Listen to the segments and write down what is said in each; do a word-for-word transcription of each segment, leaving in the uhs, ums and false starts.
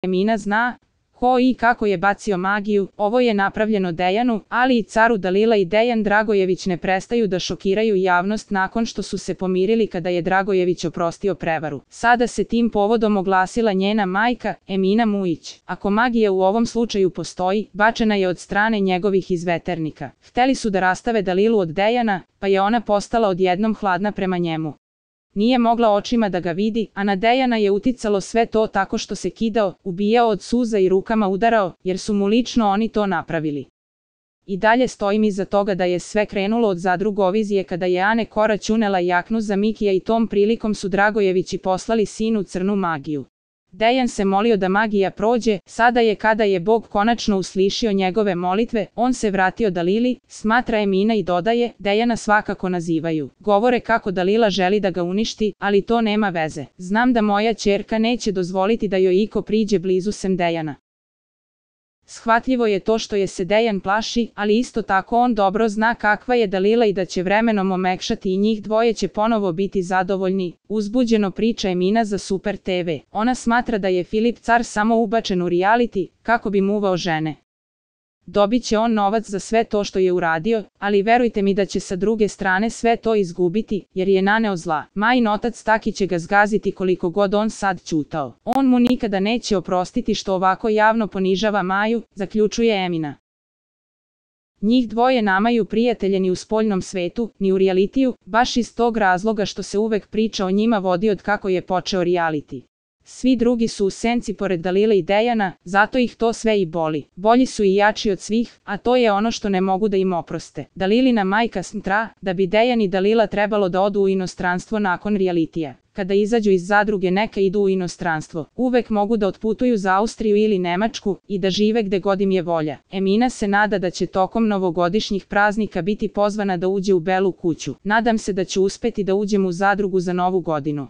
Emina zna ko i kako je bacio magiju, ovo je napravljeno Dejanu, ali i caru Dalila i Dejan Dragojević ne prestaju da šokiraju javnost nakon što su se pomirili kada je Dragojević oprostio prevaru. Sada se tim povodom oglasila njena majka, Emina Mujić. Ako magija u ovom slučaju postoji, bačena je od strane njegovih izveternika. Hteli su da rastave Dalilu od Dejana, pa je ona postala odjednom hladna prema njemu. Nije mogla očima da ga vidi, a na Dejana je uticalo sve to tako što se kidao, ubijao od suza i rukama udarao, jer su mu lično oni to napravili. I dalje stojim iza toga da je sve krenulo od Zadrugovizije kada je Ane Korać unela jaknu za Mikija i tom prilikom su Dragojevići poslali sinu crnu magiju. Dejan se molio da magija prođe, sada je kada je Bog konačno uslišio njegove molitve, on se vratio Dalili, smatra Emina i dodaje, Dejana svakako nazivaju. Govore kako Dalila želi da ga uništi, ali to nema veze. Znam da moja ćerka neće dozvoliti da joj iko priđe blizu sem Dejana. Shvatljivo je to što je se Dejan plaši, ali isto tako on dobro zna kakva je Dalila i da će vremenom omekšati i njih dvoje će ponovo biti zadovoljni. Uzbuđeno priča Emina za Super te ve. Ona smatra da je Filip car samo ubačen u reality, kako bi muvao žene. Dobit će on novac za sve to što je uradio, ali verujte mi da će sa druge strane sve to izgubiti, jer je naneo zla. Majin otac Taki će ga zgaziti koliko god on sad ćutao. On mu nikada neće oprostiti što ovako javno ponižava Maju, zaključuje Emina. Njih dvoje namaju prijatelje ni u spoljnom svetu, ni u realitiju, baš iz tog razloga što se uvek priča o njima vodi od kako je počeo reality. Svi drugi su u senci pored Dalile i Dejana, zato ih to sve i boli. Bolji su i jači od svih, a to je ono što ne mogu da im oproste. Dalilina majka smatra da bi Dejan i Dalila trebalo da odu u inostranstvo nakon realitija. Kada izađu iz zadruge neka idu u inostranstvo. Uvek mogu da otputuju za Austriju ili Nemačku i da žive gde god im je volja. Emina se nada da će tokom novogodišnjih praznika biti pozvana da uđe u Belu kuću. Nadam se da ću uspeti da uđem u zadrugu za novu godinu.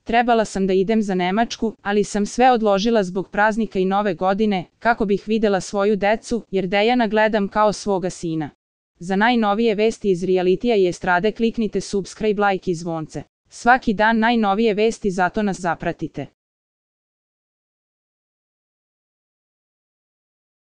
Trebala sam da idem za Nemačku, ali sam sve odložila zbog praznika i nove godine, kako bih videla svoju decu, jer Dejana gledam kao svoga sina. Za najnovije vesti iz realitija i estrade kliknite subscribe, like i zvonce. Svaki dan najnovije vesti, zato nas zapratite.